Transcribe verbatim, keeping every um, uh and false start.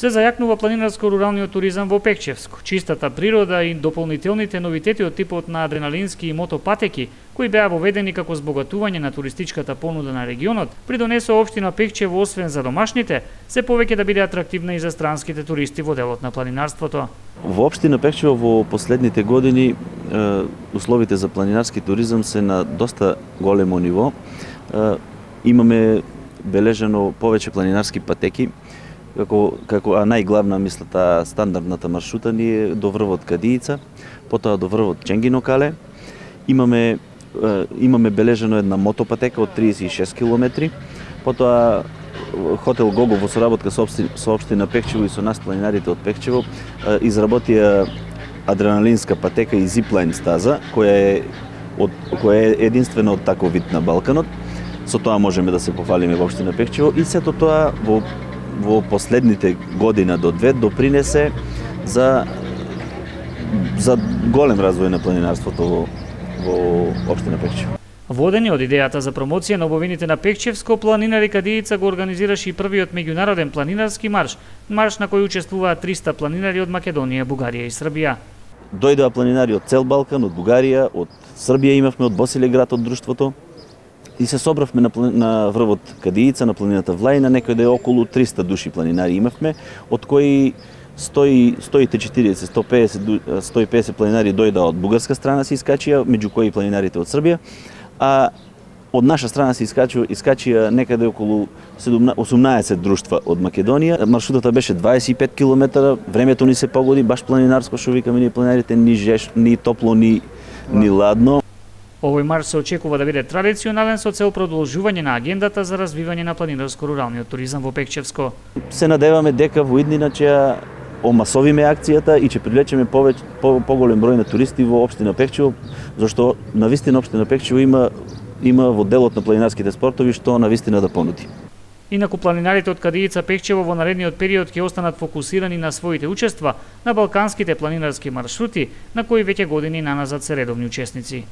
се зајакнува планинарско-руралниот туризам во Пекчевско. Чистата природа и дополнителните новитети од типот на адреналински и мотопатеки, кои беа воведени како збогатување на туристичката понуда на регионот, придонесо општина Пекчево освен за домашните, се повеќе да биде атрактивна и за странските туристи во делот на планинарството. Во општина Пекчево во последните години условите за планинарски туризам се на доста големо ниво. Имаме бележено повеќе планинарски патеки, како како а најглавна мисла таа стандардната маршрута ни е до врвот Кадиица, потоа до врвот Ченгинокале. Имаме имаме бележено една мотопатека од триесет и шест километри, потоа хотел Гого во соработка со општина Пекчево и со нас планинарите од Пекчево изработија адреналинска патека и зиплайн стаза, која е од која е единствена од таков вид на Балканот. Со тоа можеме да се пофалиме во општина Пекчево и сето тоа во во последните година до две допринесе за за голем развој на планинарството во во општина Пекчево. Водени од идејата за промоција на убавините на Пекчевско, планинари Кадиица го организираше и првиот меѓународен планинарски марш, марш на кој учествуваат триста планинари од Македонија, Бугарија и Србија. Дојдоа планинари од цел Балкан, од Бугарија, од Србија имавме, од Босилеград од друштвото. И се собравме на, на врвот Кадиица, на планината Влајна, некојде околу триста души планинари имавме, од кои сто и четириесет до сто и песет планинари дојдоа од бугарска страна се искачија, меѓу кои планинарите од Србија, а од наша страна се искачија, искачија некаде околу осумнаесет друштва од Македонија. Маршрутата беше дваесет и пет километра, времето ни се погоди, баш планинарско, што викаме ние планинарите, ни жеш, ни топло, ни, ни ладно. Овој марш се очекува да биде традиционален со цел продолжување на агендата за развивање на планинарско-руралниот туризам во Пекчевско. Се надеваме дека во иднина ќе омасовиме акцијата и ќе привлечеме повеќе по, поголем број на туристи во општина Пекчево, зашто навистина општина Пекчево има има во делот на планинарските спортови што навистина да понуди. Инаку планинарите од Кадиица Пекчево во наредниот период ќе останат фокусирани на своите учества на балканските планинарски маршрути, на кои веќе години наназад се редовни учесници.